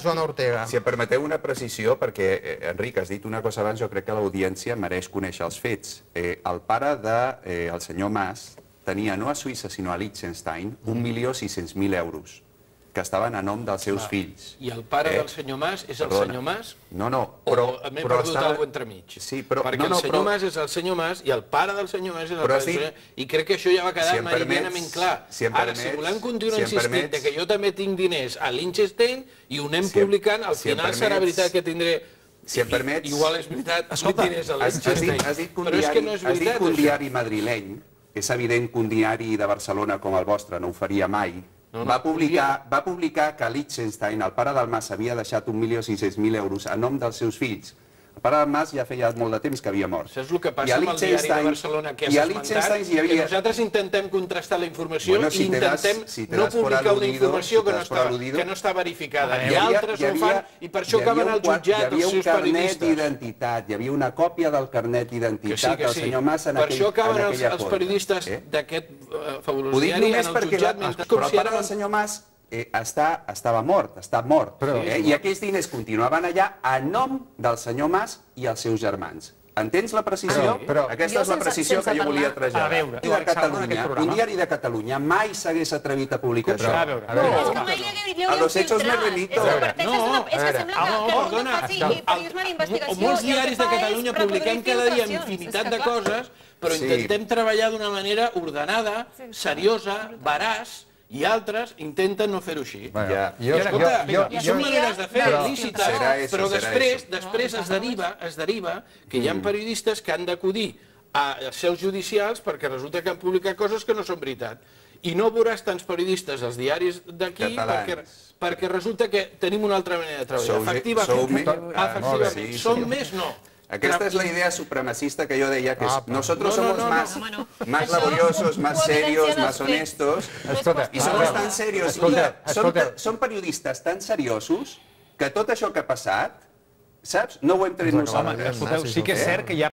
Zona Ortega. Si em permeteu una precisió, perquè, Enric, has dit una cosa abans, jo crec que l'audiència mereix conèixer els fets. El pare del senyor Mas tenia no a Suïssa, sinó a Liechtenstein, 1.600.000 euros, que estaven a nom dels seus fills. I el pare del senyor Mas és el senyor Mas? No, però... O m'he perdut alguna cosa entremig? Sí, però... Perquè el senyor Mas és el senyor Mas i el pare del senyor Mas és el pare del senyor Mas. I crec que això ja va quedar meridianament clar. Ara, si volem continuar insistint que jo també tinc diners a Liechtenstein i ho anem publicant, al final serà veritat que tindré... Si em permets... Igual és veritat, tinc diners a Liechtenstein. Has dit que un diari madrileny, és evident que un diari de Barcelona com el vostre no ho faria mai, va publicar que Liechtenstein, el pare del Mas, havia deixat 1.600.000 euros a nom dels seus fills. El pare del Mas ja feia molt de temps que havia mort. Això és el que passa amb el diari de Barcelona que has esmentat, que nosaltres intentem contrastar la informació i intentem no publicar una informació que no està verificada. I altres ho fan i per això acaben al jutjat els seus periodistes. Hi havia una còpia del carnet d'identitat del senyor Mas en aquella foto. Per això acaben els periodistes d'aquest fabulós diari en el jutjat. Però el pare del senyor Mas estava mort, està mort. I aquells diners continuaven allà a nom del senyor Mas i els seus germans. Entens la precisió? Aquesta és la precisió que jo volia traslladar. Un diari de Catalunya mai s'hagués atrevit a publicar això. A los hechos me remito. Molts diaris de Catalunya publiquem cada dia infinitat de coses, però intentem treballar d'una manera ordenada, seriosa, veraç, i altres intenten no fer-ho així. I són maneres de fer lícites, però després es deriva que hi ha periodistes que han d'acudir a seus judicials perquè resulta que han publicat coses que no són veritat. I no veuràs tants periodistes als diaris d'aquí perquè resulta que tenim una altra manera de treballar. Efectivament, som més no. Aquesta es la idea supremacista que yo decía, que nosotros somos más laboriosos, más serios, más honestos, y somos tan serios. Són periodistes tan seriosos que tot això que ha passat, saps? No ho hem tret nosaltres. Sí que és cert que hi ha